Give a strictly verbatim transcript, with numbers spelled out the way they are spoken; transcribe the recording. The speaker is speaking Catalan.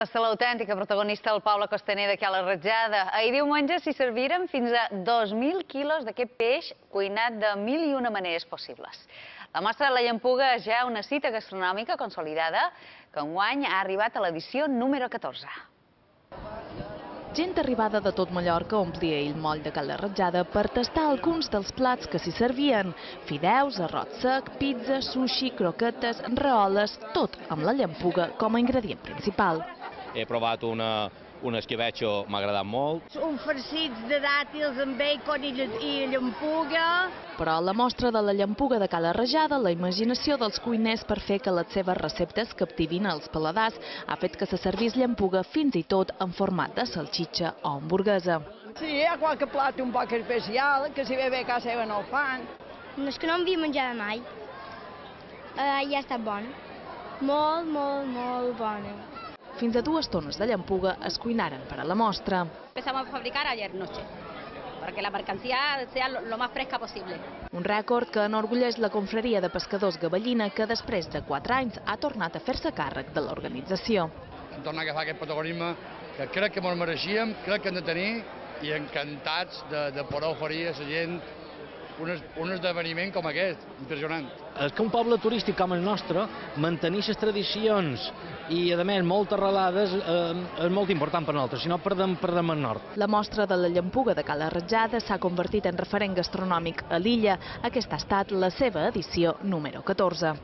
És l'autèntica protagonista del poble costaner de Cala Ratjada. Ahir diumenge s'hi serviren fins a dos mil quilos d'aquest peix cuinat de mil i una maneres possibles. La mostra de la llampuga és ja una cita gastronòmica consolidada que enguany ha arribat a l'edició número catorze. Gent arribada de tot Mallorca omplia el moll de Cala Ratjada per tastar alguns dels plats que s'hi servien. Fideus, arròs sec, pizza, sushi, croquetes, raoles, tot amb la llampuga com a ingredient principal. He provat una, un esquivetxo, m'ha agradat molt. Un farcits de dàtils amb bacon i, i llampuga. Però a la mostra de la llampuga de Cala Ratjada, la imaginació dels cuiners per fer que les seves receptes captivin els paladars ha fet que se servís llampuga fins i tot en format de salxitxa o hamburguesa. Sí, hi ha qualque plat un poc especial, que si ve bé a casa seva no el fan. No és que no havia menjat mai. Uh, ja ha estat bon. Molt, molt, molt bona. Fins a dues tones de llampuga es cuinaren per a la mostra. Empezamos a fabricar ayer noche, para que la mercancía sea lo más fresca posible. Un rècord que enorgulleix la confraria de pescadors Gavellina, que després de quatre anys ha tornat a fer-se càrrec de l'organització. Hem tornat a agafar aquest protagonisme que crec que ens mereixíem, crec que hem de tenir, i encantats de, de poder oferir a la gent un, un esdeveniment com aquest, impressionant. És que un poble turístic com el nostre, mantenir les tradicions i, a més, molt arrelades, eh, és molt important per nosaltres, si no perdem, perdem el nord. La mostra de la llampuga de Cala Ratjada s'ha convertit en referent gastronòmic a l'illa. Aquesta ha estat la seva edició número catorze.